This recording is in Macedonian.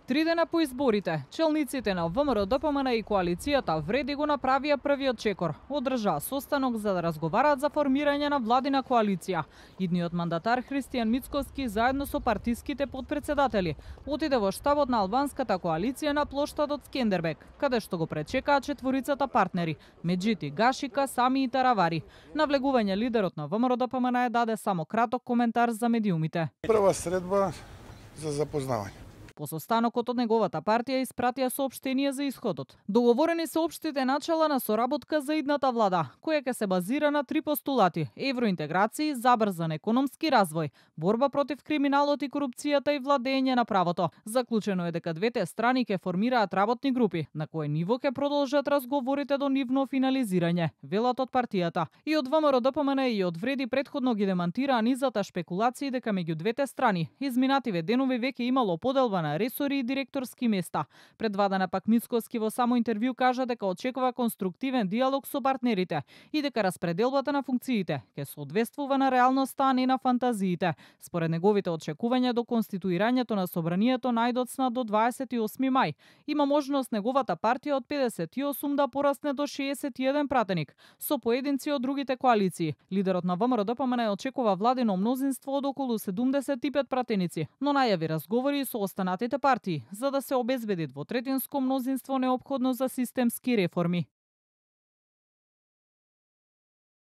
3 дена по изборите, челниците на ВМРО-ДПМН и коалицијата вреди го направија првиот чекор. Одржаа состанок за да разговараат за формирање на владина коалиција. Идниот мандатар Христијан Мицкоски заедно со партиските подпредседатели отиде во штабот на албанската коалиција на плоштадот Скендербек, каде што го пречекаа четворицата партнери Меджити Гашика, Сами и Таравари. На влегување лидерот на ВМРО-ДПМН даде само краток коментар за медиумите. Прва средба за запознавање. По состанокот од неговата партија испратија соопштение за исходот. Договорени се општите начала на соработка за идната влада, која ќе се базира на 3 постулати: евроинтеграција, забрзан економски развој, борба против криминалот и корупцијата и владење на правото. Заклучено е дека двете страни ќе формираат работни групи, на кое ниво ќе продолжат разговорите до нивно финализирање, велат од партијата. И од ВМРО-ДПМН и од вреди претходно ги демантираа низата шпекулации дека меѓу двете страни изминативе денови веќе имало поделба на ресори и директорски места. Пред 2 дена пак Мицкоски во само интервју кажа дека очекува конструктивен диалог со партнерите и дека распределбата на функциите ќе соодветствува на реалноста, а не на фантазиите. Според неговите очекувања до конституирањето на собранието најдоцна до 28 мај, има можност неговата партија од 58 да порасне до 61 пратеник, со поединци од другите коалиции. Лидерот на ВМРО-ДПМН очекува владино мнозинство од околу 75 пратеници, но најави разговори со останатите партии за да се обезбеди двотретинско мнозинство неопходно за системски реформи.